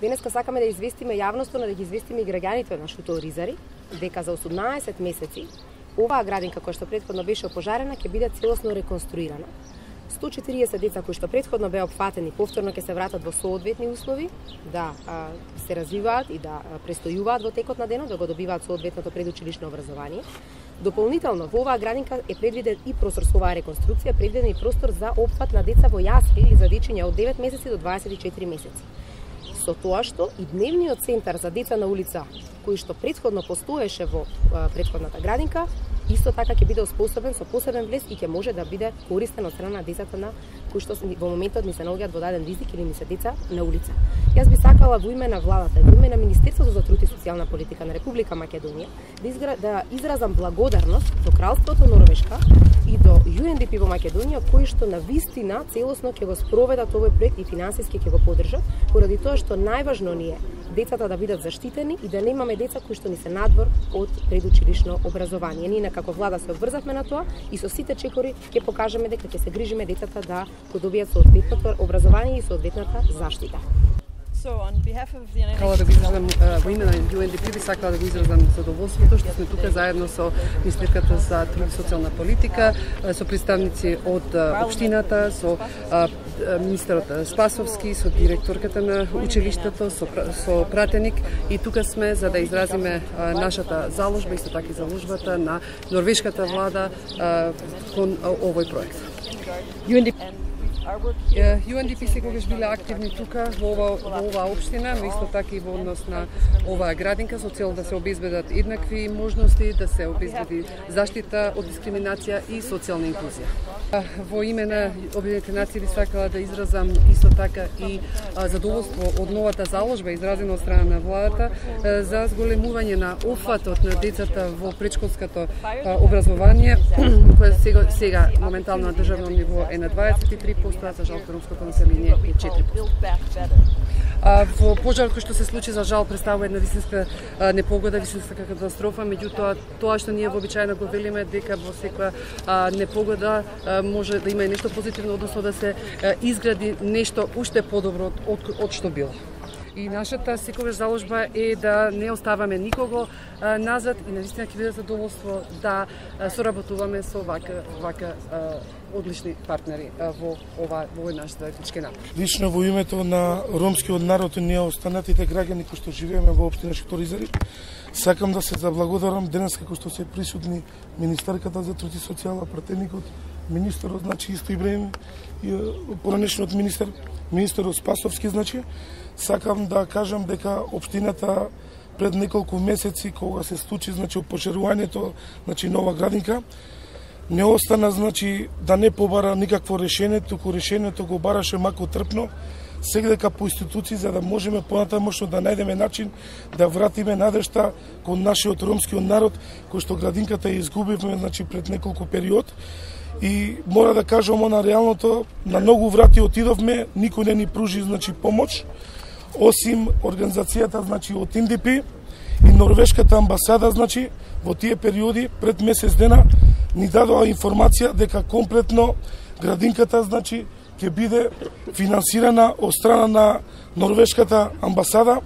Денеска сакаме да известиме јавноста, но да ги известиме и граѓаните на Шутооризари, дека за 18 месеци оваа градинка која што претходно беше опожарена ќе биде целосно реконструирана. 140 деца кои што претходно беа опфатени повторно ќе се вратат во соодветни услови да се развиваат и да престојуваат во текот на денот, да го добиваат соодветното предучилишно образование. Дополнително во оваа градинка е предвиден и простор со оваа реконструкција, предвиден и простор за опфат на деца во јасли или за дечиња од 9 месеци до 24 месеци. Со тоа што и дневниот центар за деца на улица, кој што претходно постоеше во претходната градинка, исто така ќе биде успособен со посебен влез и ќе може да биде користен од страна на децата на кои што во моментот ни се наоѓаат во даден ризик или ни се деца на улица. Јас би сакала во име на владата, во име на Министерството за труд и социјална политика на Република Македонија да изразам благодарност до Кралството Норвешка и до UNDP во Македонија, кои што на вистина целосно ќе го спроведат овој проект и финансиски ќе го поддржат, поради тоа што најважно ни е децата да бидат заштитени и да немаме деца кои што ни се надвор од предучилишно образование. Ние како влада се обврзавме на тоа и со сите чекори ќе покажеме дека ќе се грижиме децата да го добијат соодветното образование и соодветната заштита. Сакала да го изразам во име на UNDP, би сакала да го изразам задоволството што сме тука заедно со Министерката за труд и социјална политика, со представници од општината, со министерот Спасовски, со директорката на училиштето, со пратеник, и тука сме за да изразиме нашата заложба, исто така и заложбата на норвешката влада кон овој проект. UNDP секогаш биле активни тука во оваа општина, но исто така и во однос на оваа градинка со цел да се обезбедат еднакви можности, да се обезбеди заштита од дискриминација и социјална инклузија. Во име на Обединетите нации би сакала да изразам исто така и задоволство од новата заложба изразена од страна на владата за зголемување на опфатот на децата во предшколското образование, кое сега моментално на државно ниво е на 23%, а за жал ромското население е 4%. Во пожарот кој што се случи за жал представува една вистинска непогода, вистинска катастрофа, меѓутоа тоа што ние вообичаено го велиме дека во секоја непогода може да има и нешто позитивно, односно да се изгради нешто уште подобро од што било. И нашата секогаш заложба е да не оставаме никого назад и навистина ќе биде задоволство да соработуваме со вака одлични партнери во овој наш заеднички напор. Лично во името на ромскиот народ и ние останатите граѓани кои што живееме во општина Шутооризари, сакам да се заблагодарам денес како што се присутни министерката за труд и социјала, пратеникот, министерот, значи исто Ибраим, и поранешниот министерот Спасовски, значи сакам да кажам дека општината пред неколку месеци кога се случи значи опожарувањето, значи нова градинка, не остана значи да не побара никакво решение, туку решението го бараше мако трпно, сегдека по институции за да можеме понатамошно да најдеме начин да вратиме надежта кон нашиот ромскиот народ кој што градинката ја изгубивме значи пред неколку период. И мора да кажам на реалното, на многу врати отидовме, никој не ни пружи значи помош, осим организацијата значи од UNDP и норвешката амбасада значи во тие периоди пред месец дена ни дадоа информација дека комплетно градинката значи ќе биде финансирана од страна на норвешката амбасада